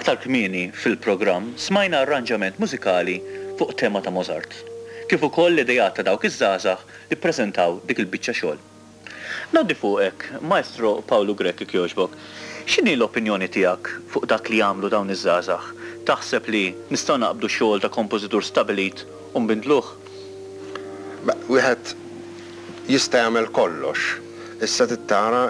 Aktar kmieni fil-programm smajna arranġament mużikali fuq tema ta' Mozart, kif ukoll l-ideat ta' dawk iż-żgħażagħ li ppreżentaw dik il-biċċa xogħol. Ngħaddi fuqek, Maestro Pawlu Grech jekk jogħġbok. X'inhi l-opinjoni tiegħek fuq dak li għamlu dawn iż-żgħażagħ? Taħseb li nistgħu naqbdu xogħol ta' kompożitur stabilit u nbindluh? Beh, wieħed jista' jagħmel kollox. Issa trid tara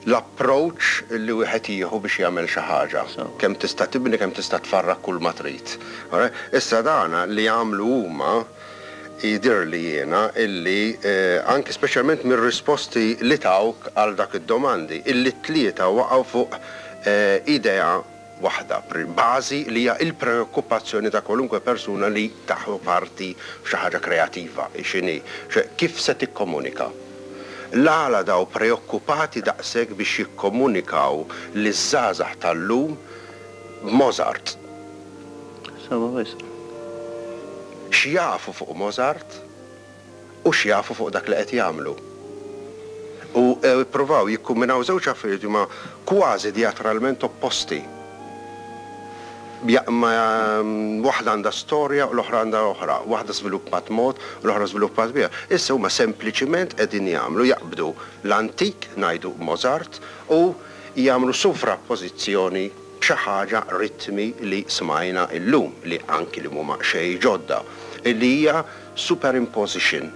l-approach li wieħed jieħu biex jagħmel xi ħaġa. Kemm tista' tibni, kemm tista' tfarrak kull ma trid. Issa dana li għamlu huma jidhirli jiena illi anki speċjalment mir-risposti li tawk għal dak id-domandi, illi t-tlieta waqgħu fuq idea waħda, bażi li hija l-preokkupazzjoni ta' kwalunkwe persuna li taħu parti f'xi ħaġa kreativa, hi x'inhi, ċe kif se tikkomunika. L-għala daw preokkupati daqshekk biex jikkomunikaw liż-żgħażagħ tal-lum b'Mozart? Sewwa wisq. X'jafu fuq Mozart? U x'jafu fuq dak li qed jagħmlu. U ppruvaw jikkumbinaw żewġ affarijiet li huma kważi dijatralment opposti. Waħda għandha storja u l-oħra għandha oħra. Waħda żviluppat mod u l-oħra żviluppat biha. Issa huma sempliċiment qegħdin jagħmlu, jaqbdu l-antik, ngħidu Mozart, u jagħmlu sovrappożizzjoni b'xi ħaġa ritmi li smajna illum, li anki li mhuma xejn ġodda, li hija superimposition.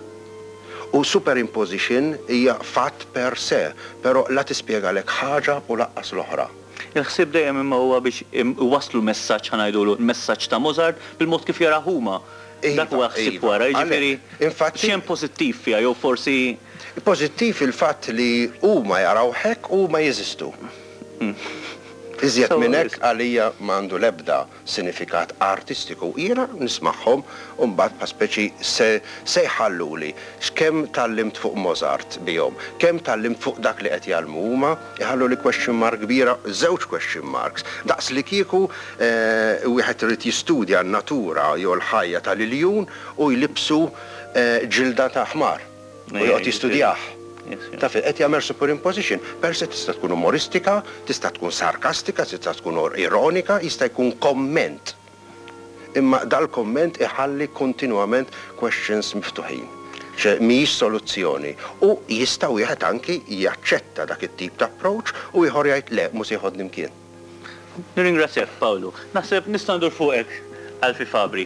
U superimposition hija fatt per se, però la tispjegalek ħaġa u laqqas l-oħra. Il-ħsieb dejjem imma huwa biex iwasslu l-messaġġ, ħa ngħidulu, il-messaġġ ta' Mozart bil-mod kif jarah huma. Dak huwa l-ħsieb wara, jiġifieri x'hemm pożittiv fiha jew forsi. Pożittiv il-fatt li huma jarawh hekk u huma jeżistu. Iżjed minn hekk għalija m'għandu l-ebda sinifikat artistiku. Jiena nismagħhom u mbagħad bħal speċi se se jħalluli x'kemm tgħallimt fuq Mozart bihom, kemm tgħallimt fuq dak li qed jgħallmu huma, iħalluli question mark kbira, żewġ question marks. Daqs li kieku wieħed irid jistudja n-natura jew l-ħajja tal-iljun u jlibbsu ġilda ta' ħmar. U joqgħod jistudjah. Taf, qed jagħmel superimposition. Per se tista' tkun umoristika, tista' tkun sarkastika, tista' tkun ironika, jista' jkun komment. Imma dal-komment iħalli kontinwament questions miftuħin. Ċe mhijiex soluzzjoni. U jista' wieħed anki jaċċetta dak it-tip ta' approach u ieħor jgħid le, mhu se jeħodni mkien. Nirringrazzjak Pawlu. Naħseb nista' ndur fuqek Alfie Fabri.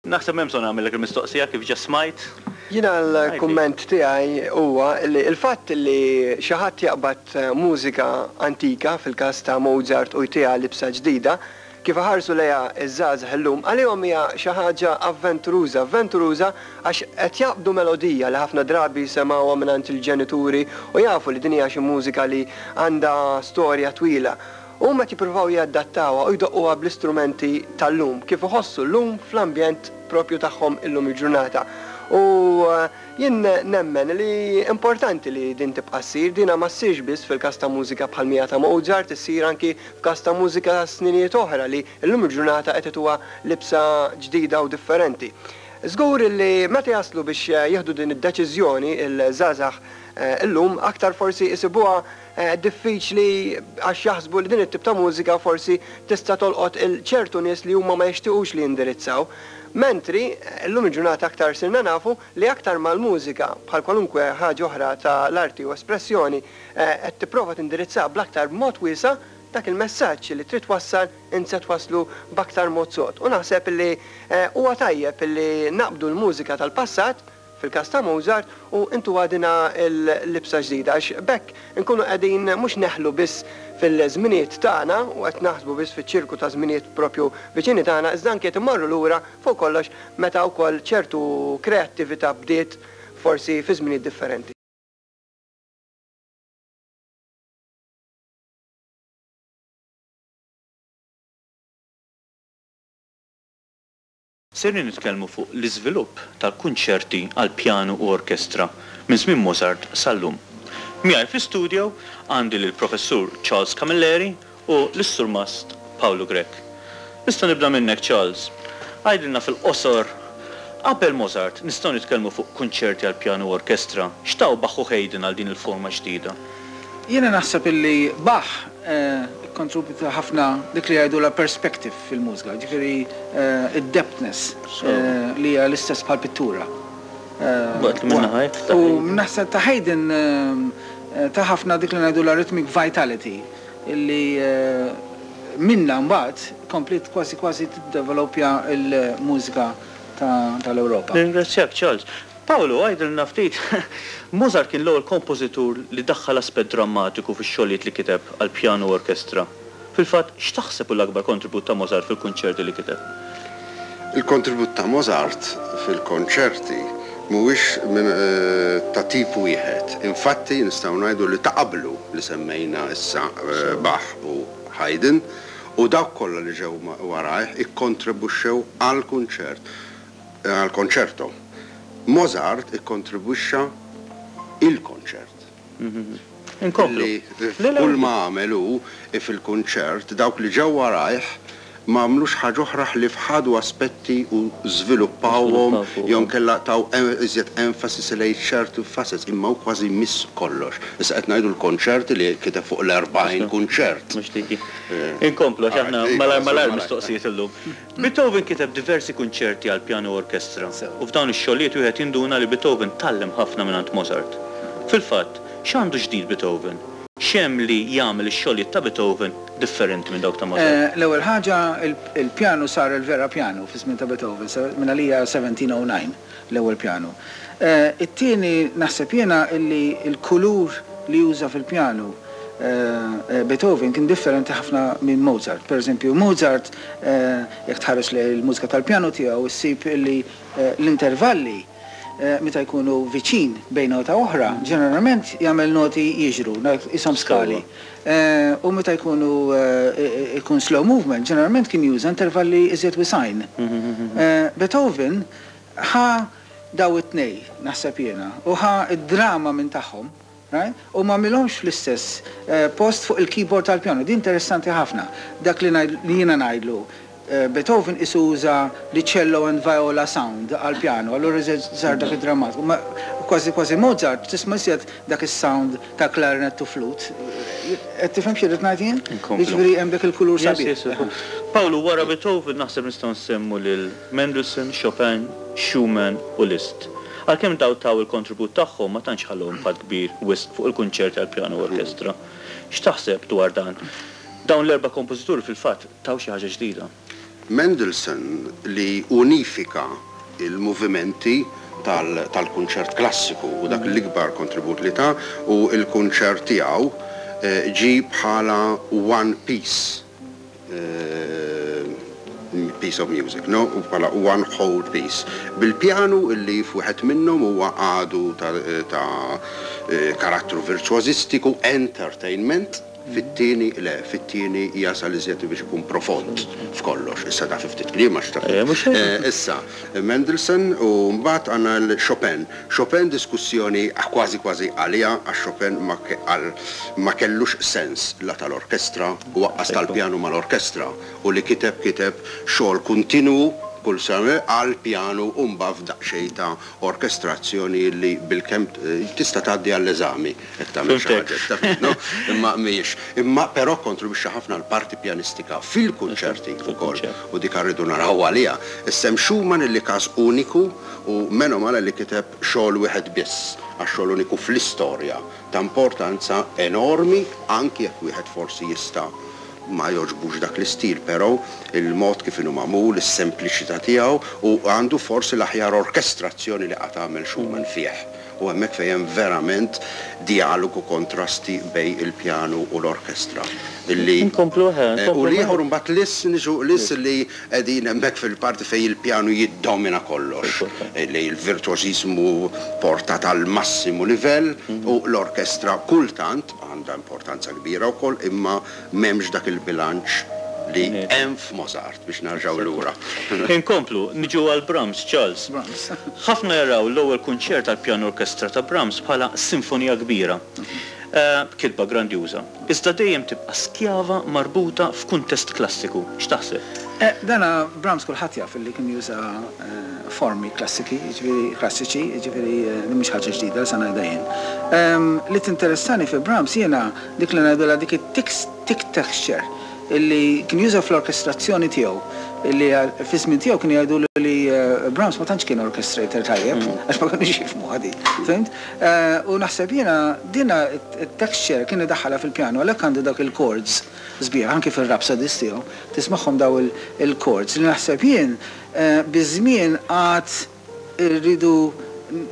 Naħseb m'hemm bżonn nagħmillek il-mistoqsija kif ġa smajt. Jiena l-kumment tiegħi huwa li l-fatt li xi ħadd jaqbad mużika antika, fil-każ ta' Mozart u jtiha libsa ġdida, kif iħarsu lejha ż-żgħażagħ illum, għalihom hija xi ħaġa avventuruża. Avventuruża għax qed jaqbdu melodija li ħafna drabi semgħuha mingħand il-ġenituri u jafu li din hija xi mużika li għandha storja twila. Huma qed jippruvaw jadattawha u jdoqquha bl-istrumenti tal-lum, kif iħossu llum fl-ambjent proprju tagħhom illum il-ġurnata. U jien nemmen li importanti li din tibqa' ssir, dina ma ssirx biss fil-każ ta' mużika bħal mija ta' Mozart, issir anki f'każ ta' mużika ta' sninijiet oħra li llum il-ġurnata qed ituha libsa ġdida u differenti. Żgur li meta jaslu biex jieħdu din id-deċiżjoni l-żgħażagħ illum aktar forsi jsibuha diffiċli għax jaħsbu li din it-tip ta' mużika forsi tista' tolqot 'il ċertu nies li huma ma jixtiequx li jindirizzaw. Mentri, illum il-ġurnata aktar sirna nafu li aktar ma l-mużika, bħal kwalunkwe ħaġa oħra ta' l-arti u espressjoni, qed tipprova tindirizzaha bl-aktar b'mod wiesa', dak il-messaġġ li trid twassal int se twasslu b'aktar mod sod. U naħseb li huwa tajjeb li naqbdu l-mużika tal-passat, fil-każ ta' Mozart, u intuha dina l-libsa ġdida għax b'hekk inkunu qegħdin mhux neħlu biss fil-żminijiet tagħna u qed naħsbu biss fiċ-ċirku ta' żminijiet proprju viċini tagħna iżda anki qed immorru lura fuq kollox meta wkoll ċertu kreattività bdiet forsi fi żminijiet differenti. Sejrin nitkellmu fuq l-iżvilupp tal-kunċerti għal pjanu u orkestra minn żmien Mozart sal-lum. Miegħi fl-istudio għandi lill-Professur Charles Camilleri u lis-Surmast Pawlu Grech. Nista' nibda minnek Charles. Għidilna fil-qosor, qabel Mozart nistgħu nitkellmu fuq kunċerti għal pjanu u orkestra, x'taw Bach u Haydn għal din il-forma ġdida? Jiena naħseb illi Bach. ikkontribwita ħafna dik li jgħidulha perspective fil-mużika, jiġifieri d-depthness li hija l-istess bħall-pittura. U naħseb ta' Haydn ta ħafna dik li ngħidulha rhythmic vitality illi minnha mbagħad kompliet kważi kważi tiddevelopja l-mużika tal-Ewropa. Nirringrazzjak Charles. Paolo, għidilna ftit, Mozart kien l-ewwel kompożitur li daħħal aspett drammatiku fix-xogħlijiet li kiteb għal pjanu u orkestra. Fil-fatt, x'taħseb hu l-akbar kontribut ta' Mozart fil-kunċerti li kiteb? Il-kontribut ta' Mozart fil-konċerti mhuwiex ta' tip wieħed. Infatti, nistgħu ngħidu li ta' qablu li semmejna issa Bach u Haydn u dawk kollha li ġew warajh ikkontribwixxew għall-kunċert. Għall-konċerto. Mozart ikkontribwixxa il-konċert. Inkomplu. Li kull ma għamel hu fil-kunċert, dawk li ġew warajh ma għamlux ħaġa oħra ħlief ħadu aspetti u żviluppawhom jew inkella taw iżjed emphasis lejn ċertu facets, imma hu kważi miss kollox. Issa qed ngħidu l-konċerti li kiteb fuq l-40 kunċert. Mhux dik hi. Inkomplu għax aħna malajr malajr mistoqsijiet illum. Beethoven kiteb diversi kunċerti għal pjanu u orkestra, u f'dawn ix-xogħlijiet wieħed jinduna li Beethoven tgħallem ħafna mingħand Mozart. Fil-fatt, x'għandu ġdid Beethoven? X'hemm li jagħmel ix-xogħlijiet ta' Beethoven differenti minn dawk ta' Mozart? L-ewwel ħaġa, il-pjanu sar il-vera pjanu fiż-żmien ta' Beethoven, mingħalija 1709 l-ewwel pjanu. It-tieni, naħseb jiena illi l-kulur li uża fil-pjanu Beethoven kien differenti ħafna minn Mozart. Per eżempju, Mozart, jekk tħares lejn il-mużika tal-pjanu tiegħu, issib illi l-intervalli meta jkunu viċin bejn nota oħra, ġeneralment jagħmel noti jiġru, qishom skali. U meta jkunu jkun slow movement, ġeneralment kien juża intervalli iżjed wisgħin. Beethoven ħa daw it-tnej, naħseb jiena, u ħa d-drama minn tagħhom. Right? U m'għamilhomx fl-istess post fuq il-keyboard tal-pjanu. Din interessanti ħafna. Dak li ngħid li jiena ngħidlu Beethoven qisu uża li cello and viola sound għall-pjanu, allura iżjed sar dak id-drammatiku. Ma kważi kważi Mozart tisma' iżjed dak is-sound ta' clarinet u flute. Qed tifhem xi rrid ngħid jien? Inkomplu. Jiġifieri hemm dak il-kulur Yes, sabiħ. yes, yes. Pawlu, wara Beethoven naħseb nistgħu nsemmu lil Mendelssohn, Chopin, Schumann u Liszt. Għalkemm dawn taw il-kontribut tagħhom ma tantx ħallew impatt kbir wisq fuq il-kunċerti għall-pjanu u orkestra. X'taħseb dwar dan? Dawn l-erba' kompożituri fil-fatt taw xi ħaġa ġdida. Mendelssohn li unifika l-movimenti tal-kunċert klassiku u dak l-ikbar kontribut li ta u l-kunċert tiegħu ġie bħala one piece. piece of music, no? U bħala one whole piece. Bil-pjanu illi f'wieħed minnhom huwa għadu ta', ta karattru virtuożistiku, entertainment, fit-tieni le, fit-tieni jasal iżjed biex ikun profond f'kollox. Issa ta' fi ftit kliem għax taf. Issa, Mendelssohn u mbagħad għandna l-Chopin. Chopin diskussjoni kważi kważi għaliha għax Chopin ma ma kellux sens la tal-orkestra u aqqas tal-pjanu mal-orkestra u li kiteb kiteb xogħol kontinwu kull sena għall-pjanu u mbagħad f'daqsxejn ta' orkestrazzjoni li bilkemm tista' tgħaddi għall-eżami jekk tagħmel xi ħaġa hekk taf no? Imma mhijiex. Imma però kkontribwixxa ħafna għall-parti pjanistika fil-kunċerti wkoll u dik rridu naraw għaliha. Issa hemm Schumann illi każ uniku u meno male li kiteb xogħol wieħed biss għax xogħol uniku fl-istorja ta' importanza enormi anki jekk wieħed forsi jista' ma jogħġbux dak l-istil però il-mod kif inhu magħmul, is-sempliċità tiegħu u għandu forsi l-aħjar orkestrazzjoni li qatt għamel Schumann fih u hemmhekk fejn hemm verament djalogu kontrasti bejn il-pjanu u l-orkestra illi Inkomplu eħe, u inkomplu l-ieħor imbagħad Liszt niġu Liszt li qegħdin hemmhekk fil-parti fejn il-pjanu jiddomina kollox li l-virtuożiżmu portat għal massimu livell u l-orkestra kultant għandha importanza kbira wkoll imma m'hemmx dak il-bilanċ li hemm f'Mozart biex nerġgħu lura. Inkomplu, niġu għal Brahms, Charles. Ħafna jaraw l-ewwel kunċert għall-pjanu orkestra ta' Brahms bħala sinfonija kbira. B'kitba grandjuża. Iżda dejjem tibqa' skjava marbuta f'kuntest klassiku. X'taħseb? Dana Brahms kulħadd jaf illi kien juża formi klassiki, jiġifieri klassiċi, jiġifieri din mhix ħaġa ġdida li se ngħidha jien. Li tinteressani fi Brahms jiena dik li ngħidulha dik it-tiks thick texture illi kien juża fl-orkestrazzjoni tiegħu illi fi żmien tiegħu kienu jgħidulu li Brahms ma tantx kien orchestrator tajjeb għax ma kinux jifhmuha din. Fhimt? U naħseb jiena dina t-texture kien idaħħalha fil-pjanu għalhekk għandu dawk il-chords sbieħ anki fir-rhapsodies tiegħu tismagħhom daw il-chords li naħseb jien biż-żmien għad irridu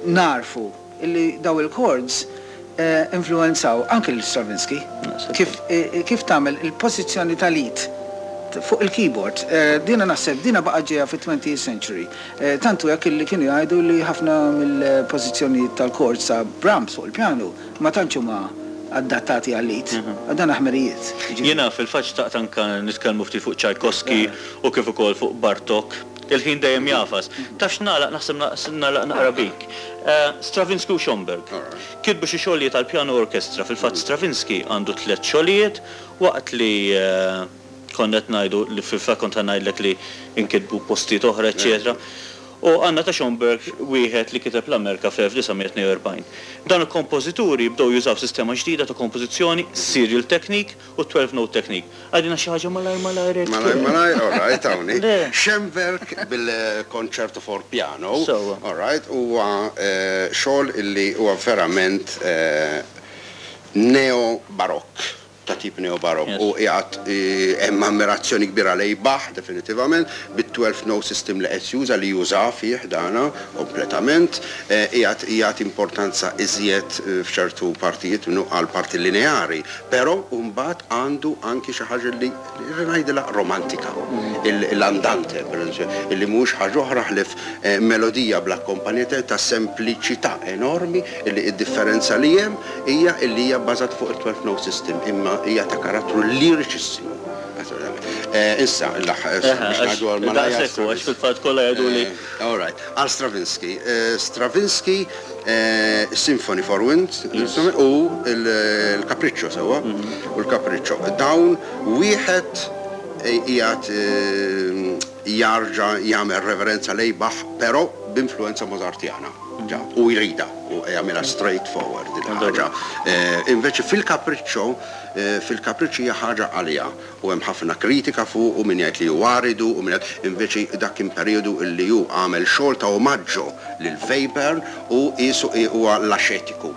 nagħrfu illi daw il-chords influwenzaw anki lil Stravinsky kif kif tagħmel il-pożizzjoni tal-id fuq il-keyboard. Dina naħseb dina baqgħet ġejja fit-twentieth century. Tant hu hekk illi kienu jgħidu li ħafna mill-pożizzjonijiet tal-chords ta' Brahms fuq il-pjanu ma tantx huma adattati għall-id. Dan ħmerijiet. Jiena fil-fatt xtaqt anke nitkellmu ftit fuq Tchaikovsky u kif ukoll fuq Bartok. Il-ħin dejjem jagħfas. Taf x'nagħlaq naħseb nagħlaq naqra bik. Stravinsky u Schönberg kitbu xi xogħlijiet għall-pjanu u orkestra. Fil-fatt Stravinsky għandu tlett xogħlijiet waqt li konna qed ngħidu li fil-fatt kont ħa ngħidlek li nkitbu postijiet oħra eċċetera. U għandna ta' Schönberg wieħed li kiteb l-Amerka fl-1942. Dawn il-kompożituri bdew jużaw sistema ġdida ta' kompożizzjoni, serial technique u 12 note technique. Għidilna xi ħaġa malajr malajr hekk. Malajr malajr, all right, hawnhi. Schönberg bil-Concerto for Piano, all right, huwa xogħol illi huwa verament neo-barokk. ta' tip neo-barokk u qiegħed hemm ammirazzjoni kbira lejn Bach definitivament bit-twelve note system li qed juża li juża fih dana kompletament qiegħed jagħti importanza iżjed f'ċertu partijiet minnu għall-parti lineari però mbagħad għandu anki xi ħaġa li ngħidilha romantika l-andante pereżempju li mhuwiex ħaġa oħra ħlief melodija bl-akkompanjament ta' sempliċità enormi li d-differenza li hemm hija illi hija bbażata fuq it-12 note system imma hija ta' karattru liriċissimu. Issa, l-aħħar, biex ngħidu għal malajr. Daqshekk hu, għax fil-fatt kollha jgħiduli. All right. Għal Stravinsky. Stravinsky, Symphony for Wind u l-Capriccio sewwa, u l-Capriccio. Dawn wieħed qiegħed jarġa' jagħmel reverenza lejn Bach però b'influwenza Mozartjana. Ġa, u jridha, u jagħmilha straight forward din il-ħaġa. Invece fil-Capriccio, fil-Capriccio hija ħaġa għaliha u hemm ħafna kritika fuqu, min jgħid li hu aridu u min jgħid, invece dak kien perjodu li hu għamel xogħol ta' omaggio lil Webern u qiesu huwa l-axetiku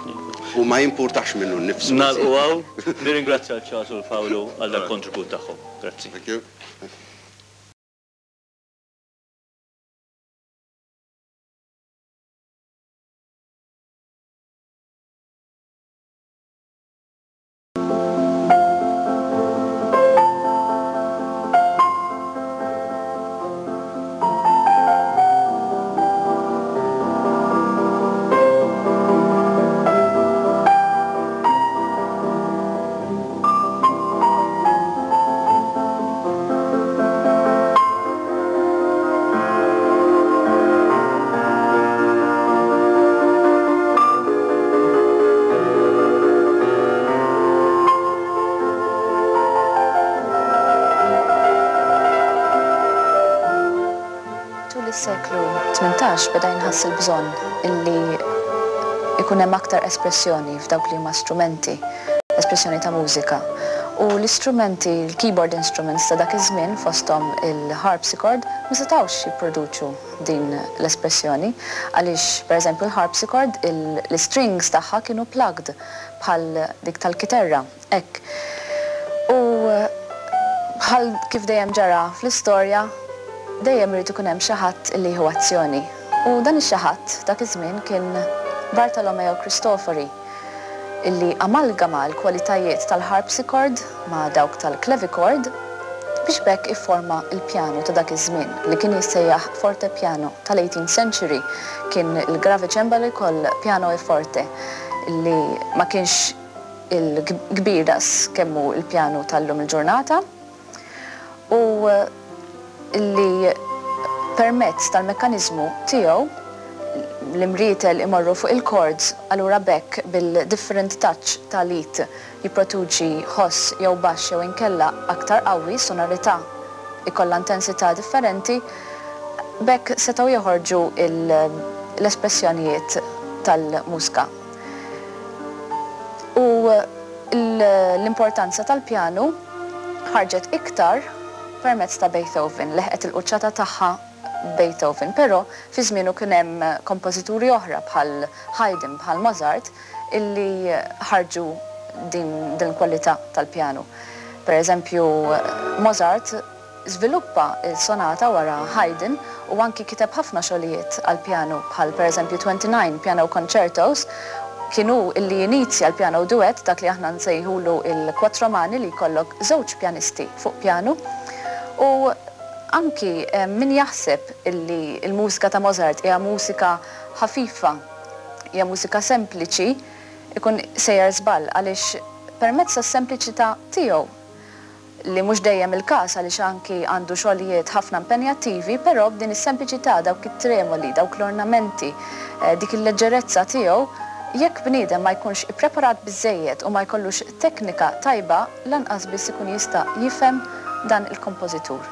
u ma jimpurtax minnu nnifsu. Nagħlqu hawn. Nirringrazzja 'l Charles u 'l Paolo għal dal-kontribut tagħhom. Grazzi. Thank you. Tul is-seklu 18 beda jinħass il-bżonn illi jkun hemm aktar espressjoni f'dawk li huma strumenti, espressjoni ta' mużika. U l-istrumenti, l-keyboard instruments ta' dak iż-żmien fosthom il-harpsichord ma setgħux jipproduċu din l-espressjoni għaliex pereżempju l-harpsichord l-istrings tagħha kienu plugged bħal dik tal-kiterra, hekk. U bħal kif dejjem ġara fl-istorja, dejjem irid ikun hemm xi ħadd li jieħu azzjoni. U dan ix-xi ħadd dak iż-żmien kien Bartolomeo Cristofori. illi amalgama l-kwalitajiet tal-harpsichord ma' dawk tal-clavichord biex b'hekk ifforma l-pjanu ta' dak iż-żmien li kien jissejjaħ fortepiano tal-eighteenth century kien il-gravicembalo jkoll piano e forte li ma kienx il-kbir daqs kemm hu l-pjanu tal-lum il-ġurnata. u li permezz tal-mekkaniżmu tiegħu l-imrietel imorru fuq il-chords allura b'hekk bil-different touch tal-id jipproduċi ħoss jew baxx jew inkella aktar qawwi, sonorità jkollha intensità differenti, b'hekk setgħu joħorġu l-espressjonijiet tal-mużka. U l-importanza tal-pjanu. ħarġet iktar permezz ta' Beethoven, leħqet il-quċċata tagħha Beethoven, però fi żmienu kien hemm kompożituri oħra bħal Haydn, bħal Mozart illi ħarġu din din il-kwalità tal-pjanu. Per eżempju, Mozart żviluppa l-sonata wara Haydn u anki kiteb ħafna xogħlijiet għall-pjanu bħal per eżempju 29 Piano Concertos, kien hu illi inizja l-piano duet, dak li aħna nsejħulu il-quattro mani li jkollok żewġ pjanisti fuq pjanu u anki min jaħseb illi l-mużika ta' Mozart hija mużika ħafifa, hija mużika sempliċi, ikun sejjer żball għaliex permezz tas-sempliċità tiegħu, li mhux dejjem il-każ għaliex anki għandu xogħlijiet ħafna impenjattivi, però b'din is-sempliċità, dawk it-tremoli, dawk l-ornamenti, dik il-leġġerezza tiegħu, jekk bniedem ma jkunx ippreparat biżżejjed u ma jkollux teknika tajba, lanqas biss ikun jista' jifhem dan il-kompożitur.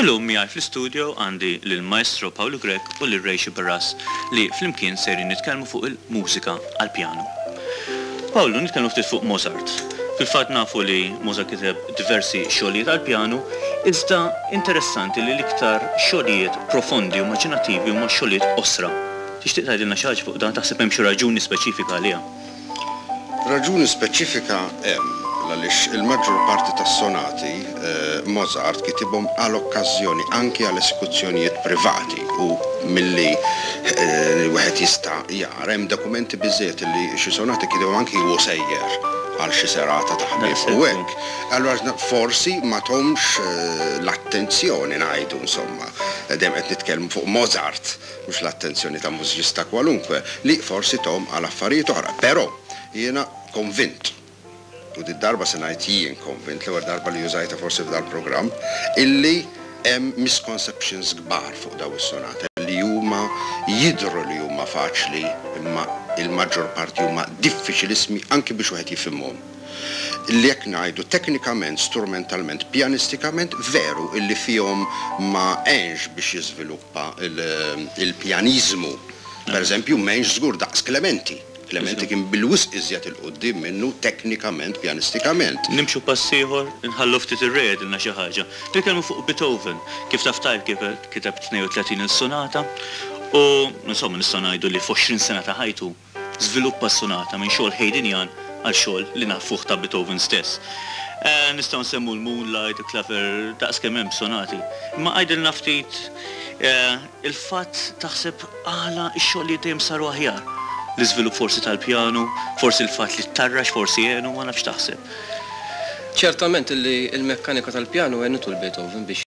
Illum miegħi fl-istudio għandi lil Maestro Pawlu Grech u lil Ray Sciberras li flimkien sejrin nitkellmu fuq il-mużika għall-pjanu. Pawlu, nitkellmu ftit fuq Mozart. Fil-fatt nafu li Mozart kiteb diversi xogħlijiet għall-pjanu, iżda interessanti li l-iktar xogħlijiet profondi u immaġinattivi huma xogħlijiet qosra. Tixtieq tgħidilna xi ħaġa fuq dan? Taħseb hemm xi raġuni speċifika għaliha? Raġuni speċifika hemm, l-għaliex il-maġġor parti tas-sonati Mozart kitibhom għal okkażjoni, anki għal esekuzzjonijiet privati u milli wieħed jista' jara hemm dokumenti biżżejjed li xi sonati kitibhom anki hu sejjer għal xi serata ta' ħbieb u hekk. Allura forsi ma thomx l-attenzjoni ngħidu insomma, dejjem qed nitkellmu fuq Mozart, mhux l-attenzjoni ta' mużiċista kwalunkwe, li forsi thom għal affarijiet oħra. Però jiena konvint, u did-darba se ngħid jien konvint, l-ewwel darba li użajtha forsi f'dal-programm, illi hemm misconceptions kbar fuq dawn is-sonate li huma jidhru li huma faċli imma il-maġġor parti huma diffiċilissimi anki biex wieħed jifhimhom. Illi jekk ngħidu teknikament, strumentalment, pjanistikament veru illi fihom ma għenx biex jiżviluppa Pa il-pjaniżmu, per eżempju, m'għenx żgur daqs Clementi. Clementi kien bil-wisq iżjed 'il quddiem minnu teknikament, pjanistikament. Nimxu pass ieħor, inħallu ftit ir-Re jgħidilna xi ħaġa. Nitkellmu fuq Beethoven. Kif taf tajjeb kiteb 32 il-sonata u, insomma, nistgħu ngħidu li f'għoxrin sena ta' ħajtu, żviluppa s-sonata minn xogħol Haydnian għal xogħol li nafuh ta' Beethoven stess. Nistgħu nsemmu l-Moonlight, il-Klaver, daqs kemm hemm sonati. Imma għidilna ftit il-fatt taħseb għala x-xogħlijiet dejjem saru aħjar? L-iżvilupp forsi tal-pjanu, forsi l-fatt li ttarrax forsi għenu, ma nafx x'taħseb. Ċertament li l-mekkanika tal-pjanu għenitu 'l Beethoven biex.